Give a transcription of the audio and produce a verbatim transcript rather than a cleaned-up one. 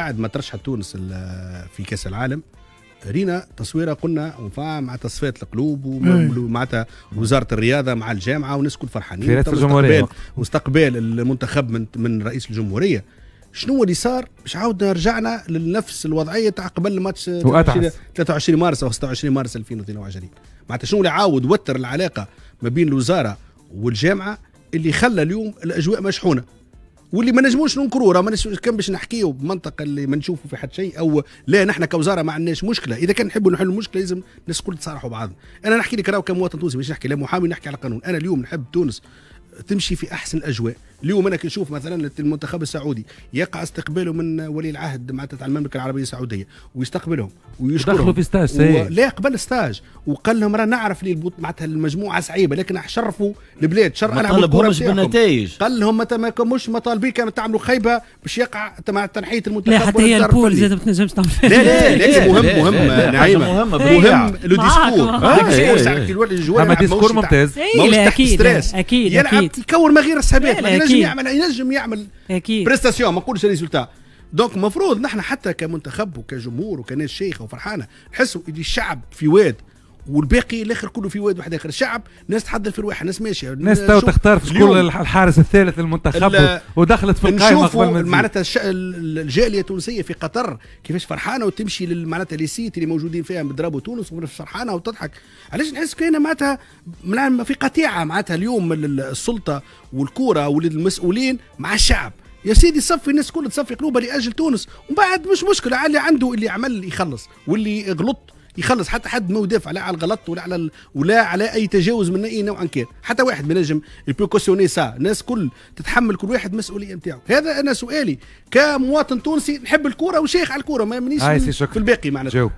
بعد ما ترشحت تونس في كاس العالم رينا تصويره، قلنا وفا مع تصفيات القلوب ومعناتها وزارة الرياضة مع الجامعة والناس الكل فرحانين في رئاسة الجمهورية واستقبال المنتخب من من رئيس الجمهوريه. شنو اللي صار باش عاودنا رجعنا لنفس الوضعية تاع قبل الماتش ثلاثة وعشرين مارس او ستة وعشرين مارس ألفين واثنين وعشرين؟ معناتها شنو اللي عاود وتر العلاقة ما بين الوزارة والجامعة اللي خلى اليوم الاجواء مشحونه واللي ما نجموش ننكروا؟ راه ما كان باش نحكيو بمنطق اللي ما نشوفوا في حد شيء او لا، نحن كوزارة ما عندناش مشكله. اذا كان نحبوا نحلوا المشكلة لازم الناس الكل تصارحوا بعض. انا نحكي لك راهو كمواطن تونسي، مش نحكي لا محامي، نحكي على قانون. انا اليوم نحب تونس تمشي في احسن الاجواء. اليوم انا كي نشوف مثلا المنتخب السعودي يقع استقباله من ولي العهد معناتها تاع المملكة العربية السعودية ويستقبلهم ويشكرهم، دخلوا في stage و... لا قبل stage، وقال لهم راه نعرف لي معناتها المجموعة صعيبة لكن شرفوا البلاد، شرف ما طالبهمش بالنتائج، قال لهم ما مش مطالبين كانوا تعملوا خيبه باش يقع مع تنحيه المنتخب. لا حتى هي ال poule زاد ما تنجمش تعمل. لا لا لكن مهم مهم نعيمه، مهم le discours، discours ممتاز، اكيد اكيد يلعب يكور ما غير حسابات، ينجم يعمل ينجم يعمل اكيد prestation، ما نقولش résultat. donc المفروض نحن حتى كمنتخب وكجمهور وكناس شيخه وفرحانه نحسوا اللي الشعب في واد والباقي الاخر كله في واد واحد اخر. الشعب ناس تحضر في رواحها، ناس ماشية، ناس تو تختار في شكون الحارس الثالث للمنتخب ودخلت في القائمة قبل ما معناتها الجالية التونسية في قطر كيفاش فرحانة وتمشي معناتها les sites اللي موجودين فيها ب drapeau تونس وفرحانه وتضحك. علاش نحس كاينه معناتها في قطيعة معناتها اليوم السلطة والكوره والمسؤولين مع الشعب؟ يا سيدي صفي الناس كلها تصفي قلوبها لاجل تونس، ومن بعد مش مشكلة اللي عنده اللي عمل يخلص واللي غلط يخلص. حتى حد ما يدافع لا على الغلط ولا على ال... ولا على اي تجاوز من اي نوع كان، حتى واحد ما نجم il peut cautionner ça. الناس كل تتحمل كل واحد مسؤولية نتاعو. هذا انا سؤالي كمواطن تونسي نحب الكورة وشيخ على الكوره، ما مانيش في الباقي معناتها.